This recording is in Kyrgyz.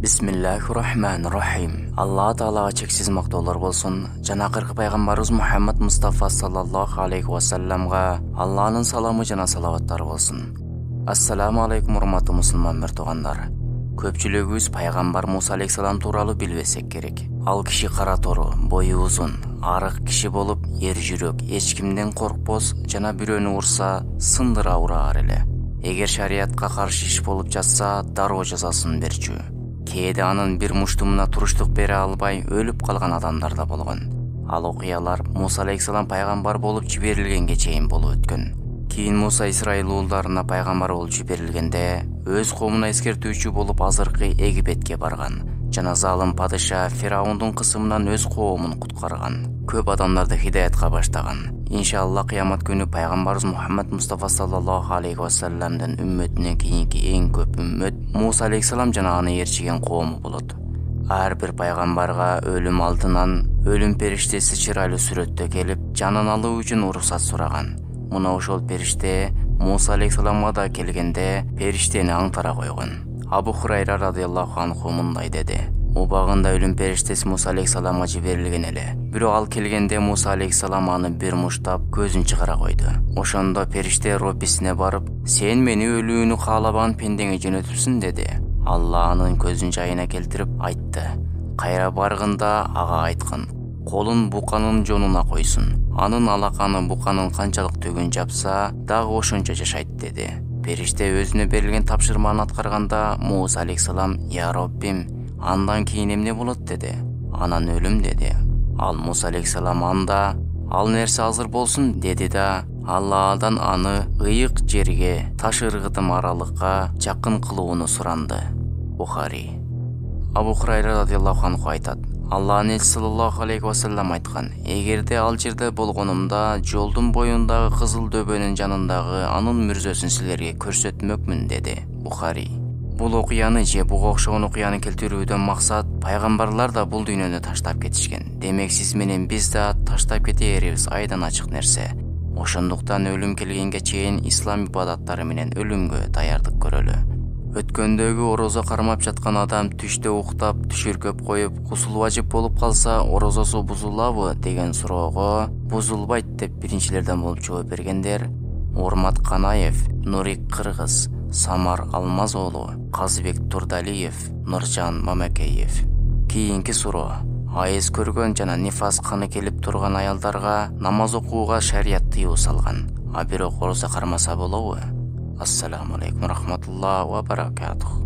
Бисмиллахир-рахманир-рахим. Алла Таалага чексиз мактоолор болсун. Жана акыркы пайгамбарыбыз Мухаммад Мустафа саллаллаху алейхи ва салламга Алланын саламы жана салаваттары болсун. Ассаламу алейкум, урматтуу мусулман мертугандар. Көпчүлүгүбүз пайгамбар Муса алейхиссалам тууралуу билбесек керек. Ал киши кара тору, бою узун, арык киши болуп, эр жүрөк, эч кимден коркпос жана бирөөнү урса, сындыра ураар эле. Эгер шариятка каршы иш болуп жатса, дароо жазасын берчү. Кээде анын бир муштумуна туруштук бере албай өлүп калган адамдар да болгон. Ал окуялар Муса алейхиссалам пайгамбар болуп жиберилгенге чейин болуп өткөн. Кийин Муса Израиль уулдарына пайгамбар болуп жиберилгенде өз коомуна эскертүүчү болуп азыркы Египетке барган жана залым падыша Фираундун кысымынан өз коомун куткарган. Көп адамдарды хидаятка баштаган. Иншалла кыямат күнү пайгамбарыбыз Мухаммад Мустафа саллаллаху алейхи ва салламдын үммөтүнөн кийинки эң көп үммөт Муса алейхиссалам жана аны ээрчиген коому болот. Ар бир пайгамбарга өлүм алдынан өлүм периштеси чырайлуу сүрөттө келип, жанын алуу үчүн уруксат сураган. Мына ошол периште Муса алейхиссаламга да келгенде периштени аңтара койгон. Абу Хурайра радыйаллаху анху мындай деди: Убагында өлүм периштеси Муса алейхиссаламга жиберилген эле. Бирок ал келгенде Муса алейхиссалам аны бир муштап көзүн чыгара койду. Ошондо периште Роббисине барып: "Сен мени өлүүнү каалаган пендеңе жөнөтүпсүң" деди. Алла анын көзүн жайына келтирип айтты: "Кайра баргында ага айткын, колун буканын жонуна койсун. Анын алаканы буканын канчалык төгүн жапса, дагы ошончо жашайт" деди. Периште өзүнө берилген тапшырманы аткарганда Муса алейхиссалам: "Я Роббим, андан кийин эмне болот" деди. "Анан өлүм" деди. Ал Муса алейхиссалам анда "Ал нерсе азыр болсун" деди да Алладан аны ыйык жерге, таш ыргытым аралыкка жакын кылууну суранды. Бухари. Абу Хурайра радыйаллаху анху айтат: Алланын элчиси саллаллаху алейхи ва саллам айткан: "Эгерде ал жерде болгонумда, жолдун боюндагы кызыл дөбөнүн жанындагы анын мүрзөсүн силерге көрсөтмөкмүн" деди. Бухари. Бул окуяны же буга окшогон окуяны келтирүүдөн максат пайгамбарлар да бул дүйнөнү таштап кетишкен. Демек сиз менен биз да таштап кетээрибиз айдан ачык нерсе. Ошондуктан өлүм келгенге чейин ислам ибадаттары менен өлүмгө даярдык көрөлү. Өткөндөгү орозо кармап жаткан адам түштө уктап, түшүркөп коюп, гусул важип болуп калса, орозосу бузулабы деген суроого бузулбайт деп биринчилерден болуп жооп бергендер Урмат Канаев, Нурик Кыргыз, Самар Алмазоолу, Казбек Турдалиев, Нуржан Мамакеев. Кийинки суроо: айыз көргөн жана нифас каны келип турган аялдарга намаз окууга шарият тыюу салган, а бирок орозо кармаса болобу? Ассаламу алейкум рахматуллахи ва баракатух.